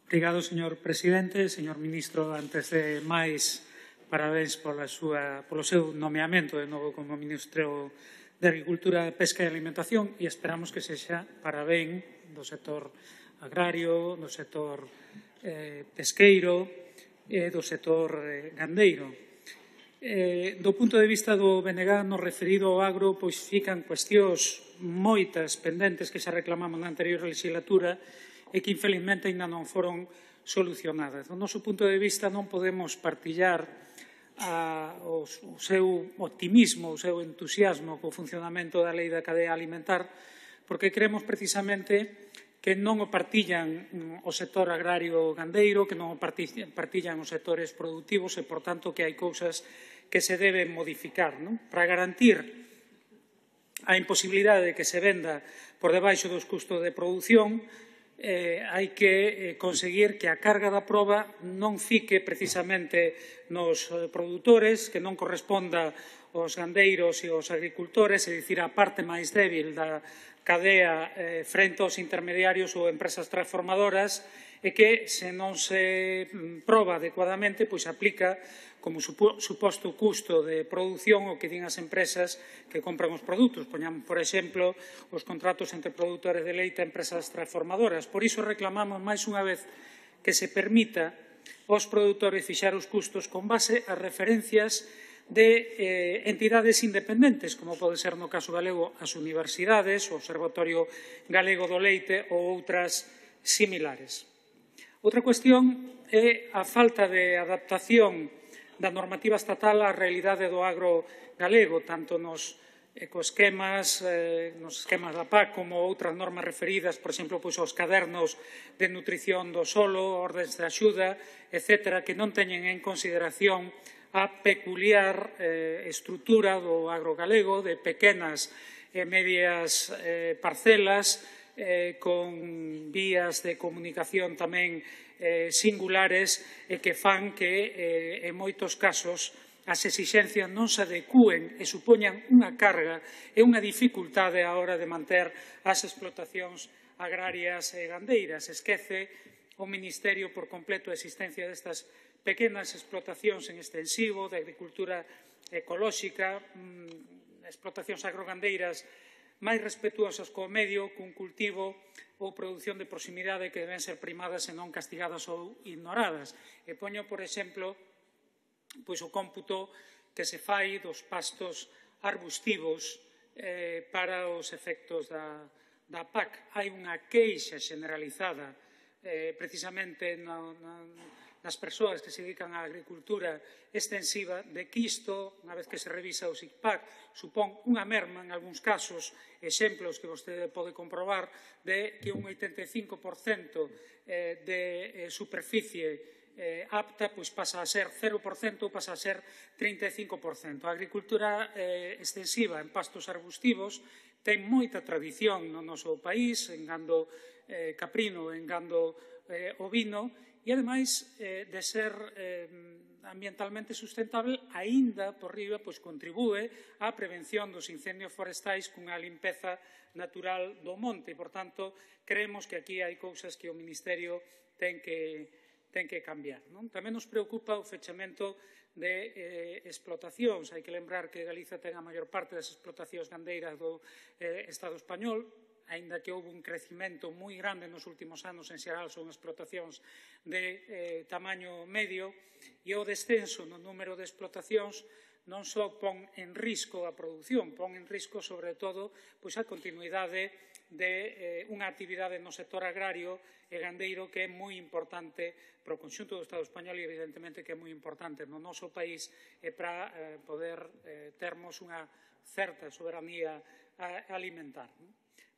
Obrigado, señor presidente. Señor ministro, antes de máis, parabéns polo seu nomeamento de novo como ministro de Agricultura, Pesca e Alimentación e esperamos que sexa para ben do sector agrario, do sector pesqueiro e do sector gandeiro. Do punto de vista do BNG, no referido ao agro, pois fican cuestións moitas pendentes que xa reclamamos na anterior legislatura e que, infelizmente, ainda non foron solucionadas. Do noso punto de vista, non podemos partillar o seu optimismo, o seu entusiasmo co funcionamento da Lei da Cadea Alimentar, porque creemos precisamente que non o partillan o sector agrario gandeiro, que non o partillan os sectores productivos e, por tanto, que hai cousas que se deben modificar. Para garantir a imposibilidade de que se venda por debaixo dos custos de produción, hai que conseguir que a carga da proba non fique precisamente nos produtores, que non corresponda aos gandeiros e aos agricultores, é dicir, a parte máis débil da cadea frente aos intermediarios ou empresas transformadoras, e que, se non se proba adecuadamente, pois aplica como suposto custo de produción o que din as empresas que compran os produtos. Poñamos, por exemplo, os contratos entre produtores de leite e empresas transformadoras. Por iso reclamamos máis unha vez que se permita aos produtores fixar os custos con base a referencias de entidades independentes, como pode ser no caso galego as universidades, o Observatorio Galego do Leite ou outras similares. Outra cuestión é a falta de adaptación da normativa estatal á realidade do agro galego, tanto nos ecoesquemas, nos esquemas da PAC, como outras normas referidas, por exemplo, aos cadernos de nutrición do solo, ordes de axuda, etc., que non teñen en consideración a peculiar estrutura do agro galego, de pequenas e medias parcelas, con vías de comunicación tamén singulares e que fan que, en moitos casos, as exixencias non se adecúen e supoñan unha carga e unha dificultade á hora de manter as explotacións agrarias e gandeiras. Esquece o Ministerio por completo a existencia destas pequenas explotacións en extensivo, de agricultura ecolóxica, explotacións agrogandeiras máis respetuosas co medio, cun cultivo ou produción de proximidade que deben ser primadas e non castigadas ou ignoradas. E poño, por exemplo, o cómputo que se fai dos pastos arbustivos para os efectos da PAC. Hai unha queixa generalizada precisamente nas persoas que se dedican á agricultura extensiva de que isto, unha vez que se revisa o SICPAC, supón unha merma en algúns casos, exemplos que vostede pode comprobar, de que un 85% de superficie apta pasa a ser 0%, pasa a ser 35%. A agricultura extensiva en pastos arbustivos ten moita tradición no noso país, en gando caprino, en gando ovino, e, ademais, de ser ambientalmente sustentable, aínda, por riba, contribúe á prevención dos incendios forestais cunha limpeza natural do monte. Por tanto, creemos que aquí hai cousas que o Ministerio ten que cambiar. Tamén nos preocupa o fechamento de explotacións. Hai que lembrar que Galiza ten a maior parte das explotacións gandeiras do Estado español, aínda que houve un crecimento moi grande nos últimos anos, en xeral son explotacións de tamaño medio, e o descenso no número de explotacións non só pon en risco a produción, pon en risco, sobre todo, a continuidade de unha actividade no sector agrario e gandeiro que é moi importante para o conxunto do Estado español e, evidentemente, que é moi importante no noso país e para poder termos unha certa soberanía alimentar.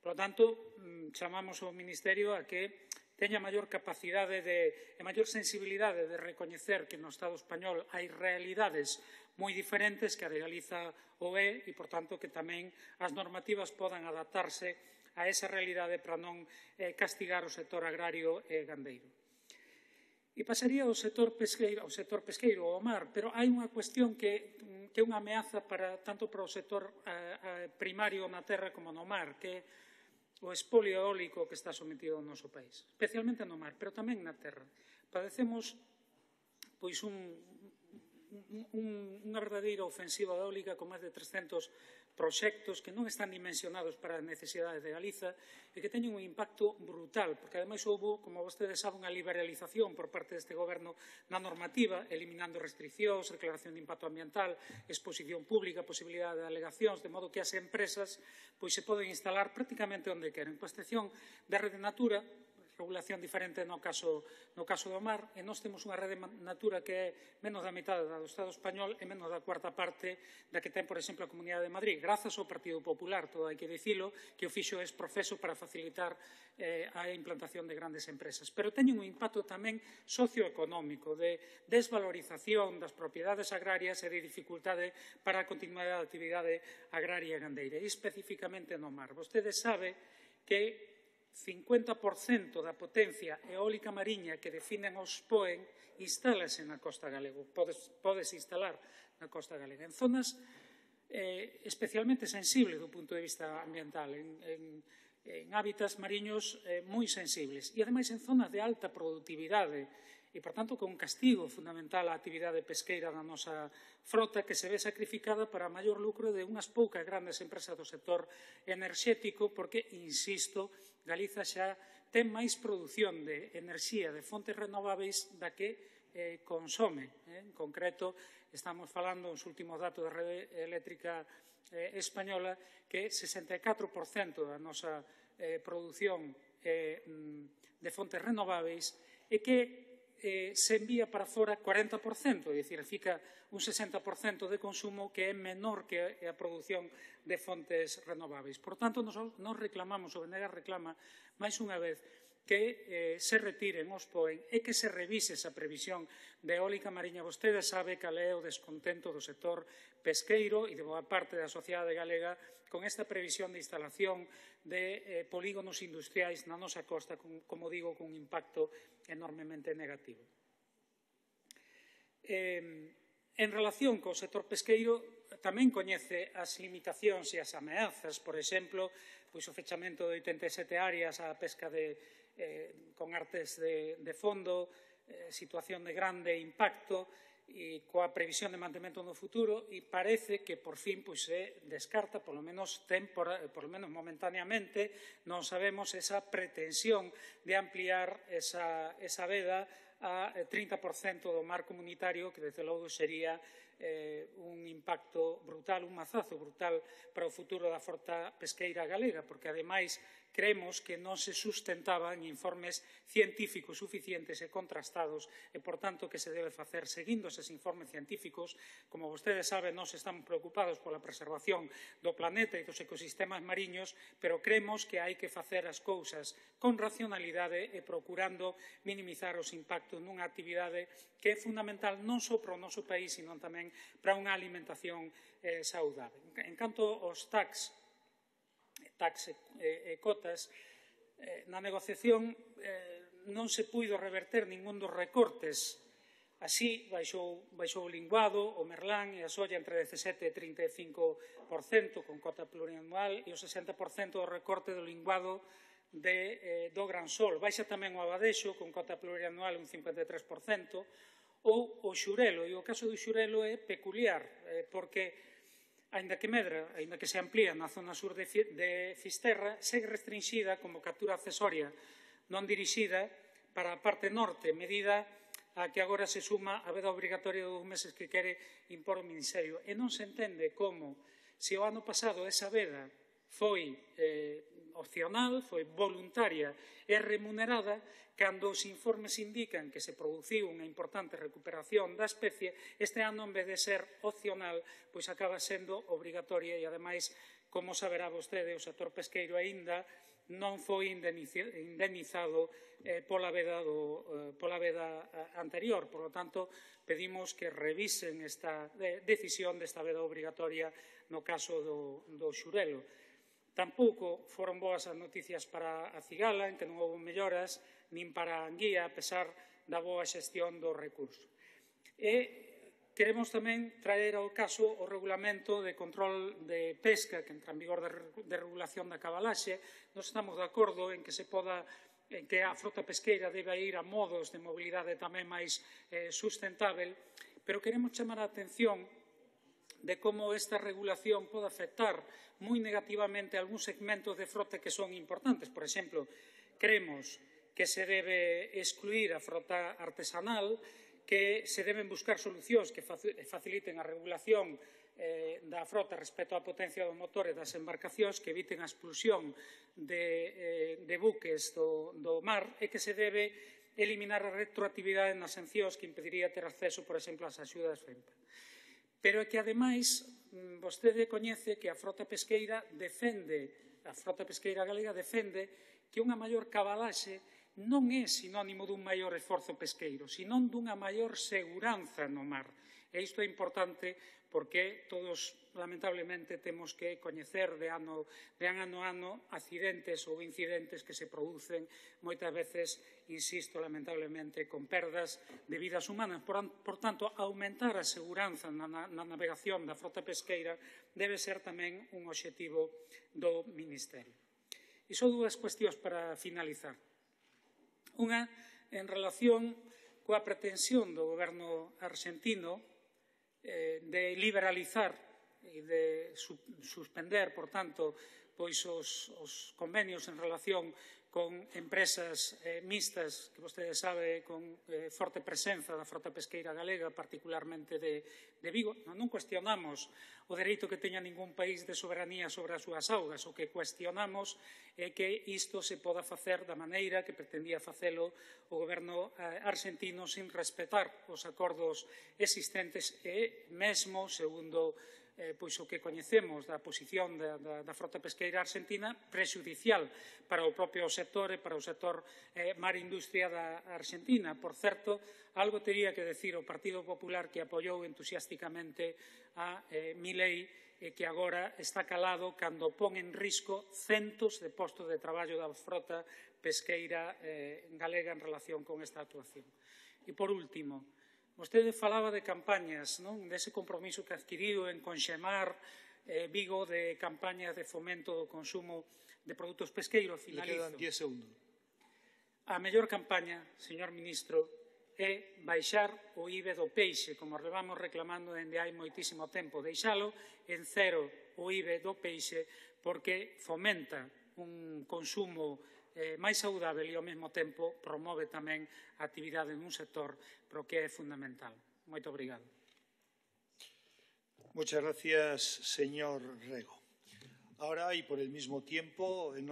Por lo tanto, chamamos ao Ministerio a que teña maior capacidade e maior sensibilidade de recoñecer que no Estado español hai realidades moi diferentes que a de Galiza o é e, por tanto, que tamén as normativas podan adaptarse a esa realidade para non castigar o sector agrario e gandeiro. E pasaría ao sector pesqueiro, ao mar, pero hai unha cuestión que é unha ameaza tanto para o sector primario na terra como no mar, que o espolio eólico que está sometido ao noso país, especialmente no mar, pero tamén na terra. Padecemos pois unha verdadeira ofensiva eólica con máis de 300 proxectos que non están dimensionados para as necesidades de Galiza e que teñen un impacto brutal, porque ademais houve, como vostedes saben, unha liberalización por parte deste goberno na normativa, eliminando restriccións, declaración de impacto ambiental, exposición pública, posibilidade de alegacións, de modo que as empresas pois se poden instalar prácticamente onde queren, coa excepción da Rede Natura, regulación diferente no caso do mar, e nós temos unha rede Natura que é menos da metade da do Estado español e menos da cuarta parte da que ten, por exemplo, a Comunidade de Madrid, grazas ao Partido Popular, todo hai que dicilo, que o fixo es profeso para facilitar a implantación de grandes empresas. Pero teñen un impacto tamén socioeconómico, de desvalorización das propiedades agrarias e de dificultade para a continuidade da actividade agraria e gandeira, e especificamente no mar. Vostede sabe que 50% da potencia eólica mariña que definen os POEN instálase na costa galega, pódese instalar na costa galega, en zonas especialmente sensibles do punto de vista ambiental, en hábitats mariños moi sensibles e, ademais, en zonas de alta productividade e, por tanto, con un castigo fundamental á actividade pesqueira da nosa frota que se ve sacrificada para maior lucro de unhas poucas grandes empresas do sector enerxético porque, insisto, Galiza xa ten máis produción de enerxía de fontes renováveis da que consome. En concreto, estamos falando, os últimos datos da rede eléctrica española, que 64% da nosa produción de fontes renováveis e que se envía para fora 40%, é dicir, fica un 60% de consumo que é menor que a produción de fontes renováveis. Por tanto, nos reclamamos, o BNG reclama máis unha vez que se retiren os POEN e que se revise esa previsión de eólica mariña. Vostede sabe cal é o descontento do sector pesqueiro e de boa parte da sociedade galega con esta previsión de instalación de polígonos industriais na nosa costa, como digo, con un impacto enormemente negativo. En relación co sector pesqueiro, tamén coñece as limitacións e as ameazas, por exemplo, o fechamento de 87 áreas á pesca con artes de fondo, situación de grande impacto e coa previsión de mantemento no futuro, e parece que por fin se descarta, polo menos momentáneamente, non sabemos esa pretensión de ampliar esa veda a 30% do mar comunitario, que desde logo sería un impacto brutal, un mazazo brutal para o futuro da frota pesqueira galega, porque ademais creemos que non se sustentaba en informes científicos suficientes e contrastados e, por tanto, que se debe facer seguindo eses informes científicos. Como vostedes saben, nós estamos preocupados pola preservación do planeta e dos ecosistemas mariños, pero creemos que hai que facer as cousas con racionalidade e procurando minimizar os impactos nunha actividade que é fundamental non só para o noso país, sino tamén para unha alimentación saudável. En canto aos tax e cotas, na negociación non se puido reverter ningún dos recortes. Así, baixou o linguado, o merlán e a solla entre 17% e 35% con cota plurianual e o 60% do recorte do linguado do gran sol. Baixa tamén o abadexo con cota plurianual un 53%, ou o xurelo. E o caso do xurelo é peculiar, porque aínda que medra, aínda que se amplía na zona sur de Fisterra, segue restringida como captura accesoria non dirixida para a parte norte, medida a que agora se suma a veda obrigatoria de 2 meses que quere impor o Ministerio. E non se entende como, se o ano pasado esa veda foi opcional, foi voluntaria e remunerada, cando os informes indican que se produciu unha importante recuperación da especie, este ano, en vez de ser opcional, pois acaba sendo obrigatoria e, ademais, como saberá vostede, o sector pesqueiro aínda non foi indemnizado pola veda anterior. Por lo tanto, pedimos que revisen esta decisión desta veda obrigatoria no caso do xurelo. Tampouco foron boas as noticias para a cigala, en que non houve melloras, nin para a anguía, a pesar da boa xestión do recurso. E Queremos tamén traer ao caso o regulamento de control de pesca que entra en vigor de regulación da cabalaxe. Nos estamos de acordo en que a frota pesqueira debe ir a modos de mobilidade tamén máis sustentável, pero queremos chamar a atención de como esta regulación pode afectar moi negativamente a algúns segmentos de frota que son importantes. Por exemplo, creemos que se debe excluir a frota artesanal, que se deben buscar solucións que faciliten a regulación da frota respecto á potencia do motor e das embarcacións, que eviten a expulsión de buques do mar e que se debe eliminar a retroactividade nas sancións que impediría ter acceso, por exemplo, ás axudas FEMPA. Pero é que, ademais, vostede coñece que a frota pesqueira galega defende que unha maior cabalaxe non é sinónimo dun maior esforzo pesqueiro, senón dunha maior seguranza no mar. E isto é importante porque todos, lamentablemente, temos que coñecer de ano a ano accidentes ou incidentes que se producen moitas veces, insisto, lamentablemente, con perdas de vidas humanas. Por tanto, aumentar a seguranza na navegación da frota pesqueira debe ser tamén un obxectivo do Ministerio. E só dúas cuestións para finalizar. Unha, en relación coa pretensión do goberno arxentino de liberalizar e de suspender, por tanto, os convenios en relación con empresas mixtas, que vostede sabe, con forte presenza da frota pesqueira galega, particularmente de Vigo. Non cuestionamos o dereito que teña ningún país de soberanía sobre as súas augas. O que cuestionamos é que isto se poda facer da maneira que pretendía facelo o goberno arxentino sin respetar os acordos existentes e mesmo, segundo o que coñecemos da posición da frota pesqueira arxentina, prexudicial para o propio sector e para o sector mar e industria da Arxentina. Por certo, algo tería que decir o Partido Popular, que apoiou entusiásticamente a Milei e que agora está calado cando pon en risco centos de postos de traballo da frota pesqueira galega en relación con esta actuación. E, por último, vostede falaba de campañas, dese compromiso que adquiriu en conxemar Vigo de campañas de fomento do consumo de produtos pesqueiros. Finalizo. Le quedan 10 segundos. A mellor campaña, señor ministro, é baixar o IBE do peixe, como levamos reclamando dende hai moitísimo tempo, deixalo en cero o IBE do peixe, porque fomenta un consumo máis saudável e, ao mesmo tempo, promove tamén a actividade nun sector pero que é fundamental. Moito obrigado. Muchas gracias, señor Rego. Ahora, y por el mismo tiempo, en